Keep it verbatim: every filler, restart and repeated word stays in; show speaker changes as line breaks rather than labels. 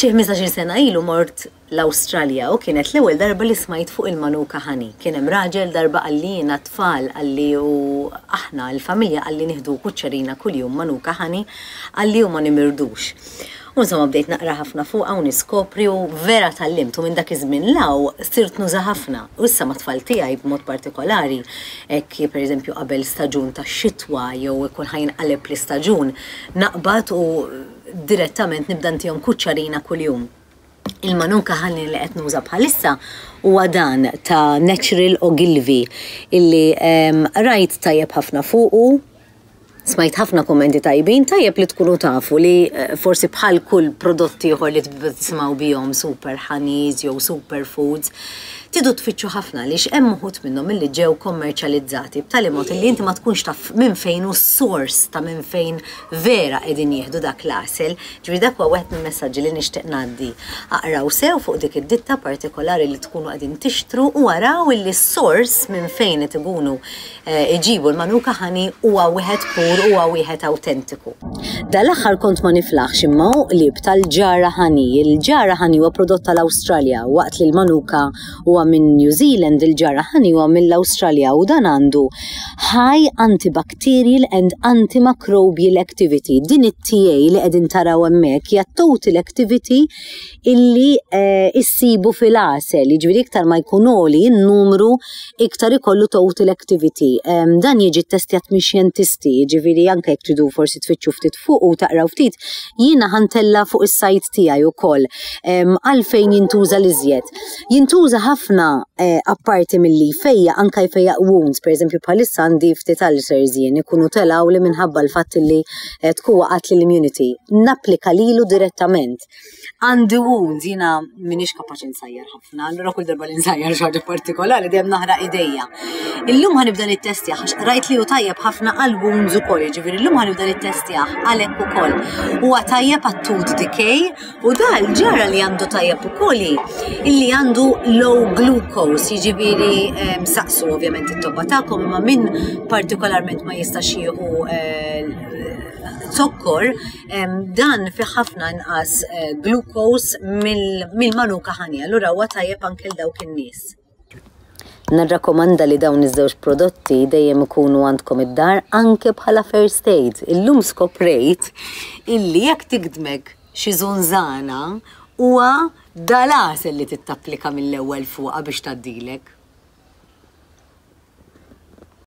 Xi ħmistax-il sena ilu mort l-Awstralja u kienet l-ewwel darba li smajt fuq il-Manuka Honey. Kien hemm raġel darba qalli, jiena tfal, qalli, u aħna l-familja, qalli, nieħdu kuċċerina kuljum Manuka Honey, qalli, u ma nimirdux. U insomma bdejt naqra ħafna fuqha u niskopri u vera tgħallimt u minn dak iż-żmien 'l hawn sirt nuża ħafna. U issa mat-tfal tiegħi b'mod partikolari, hekk pereżempju qabel staġun tax-xitwa jew ikun ħa jinqaleb l-istaġun, naqbad u direttament nibda ntihom kuċċarina kuljum. Il-Manuka Honey li qed nuża bħalissa huwa dan ta' Natural Ogilvy illi rajt tajjeb ħafna fuqu. Smajt ħafna kommenti tajbin. Tajjeb li tkunu tafu li eh, forsi bħal kull prodotti ieħor li tisimgħu bihom, super honeys jew super foods, tridu tfittxu ħafna li hemm uħud minnhom illi ġew kommerċjalizzati b'tali mod li inti ma tkunx taf minn fejn u s-source ta' minn fejn vera qegħdin jieħdu dak l-għasel. Ġifieri dak huwa wieħed mill-messaġġi li nixtieq ngħaddi. Aqraw sew fuq dik id-ditta partikolari li tkunu qegħdin tixtru u araw illi s-source minn fejn qed ikunu eh, iġibu l-Manuka Honey huwa wieħed pur, huwa wieħed awtentiku. Dal-aħħar kont ma niflaħx imma qlib tal-Jarrah Honey. Il-Jarrah Honey huwa prodott tal-Awstralja, waqt li l-Manuka huwa minn New Zealand, il-Jarrah Honey huwa mill-Awstralja u dan għandu high antibacterial and antimicrobial activity. Din it-T A li qegħdin taraw hemmhekk hija total activity illi eh, issibu fil-għasel, jiġifieri iktar ma jkun għoli n-numru, iktar ikollu total activity. Um, dan jiġi testjat minn xjentisti, jiġifieri anke jekk tridu forsi tfittxu ftit fuq u taqraw ftit, jiena ħa ntella' fuq is-sajt tiegħi ukoll um, għalfejn jintuża l-iżjed. Jintuża ħafna, eh, apparti milli jfejjaq, anka jfejjaq wounds, per eżempju bħalissa għandi ftit ulcers jien ikunu telgħu li minħabba l-fatt li eh, tkun waqgħet l-immunity. Napplika lilu direttament. Għandi wounds, jiena m'iniex kapaċi nsajjar ħafna, allura kull darba li nsajjar xi ħaġa partikolari dejjem naħraq idejja. Illum ħa nibda nittestjah għax rajt li hu tajjeb ħafna għal wounds ukoll, jiġifieri llum ħa nibda nittestjah għalhekk ukoll. Huwa tajjeb għat-tooth decay u dal-Jarrah li għandu tajjeb ukoll illi għandu low glucose, jiġifieri saqsu ovvjament it-tobba tagħkom, imma min partikolarment ma jistax jieħu eh, zokkor, dan fi ħafna inqas eh, glucose mill-Manuka Honey, allura huwa tajjeb anke l dawk in-nies. Nirrakkomanda li dawn iż-żewġ prodotti dejjem ikunu għandkom id-dar anke bħala first aid. Illum skoprejt illi jekk tigdmek xi żunżana, huwa dal-għasel li tittapplika mill-ewwel fuqha biex tgħaddilek.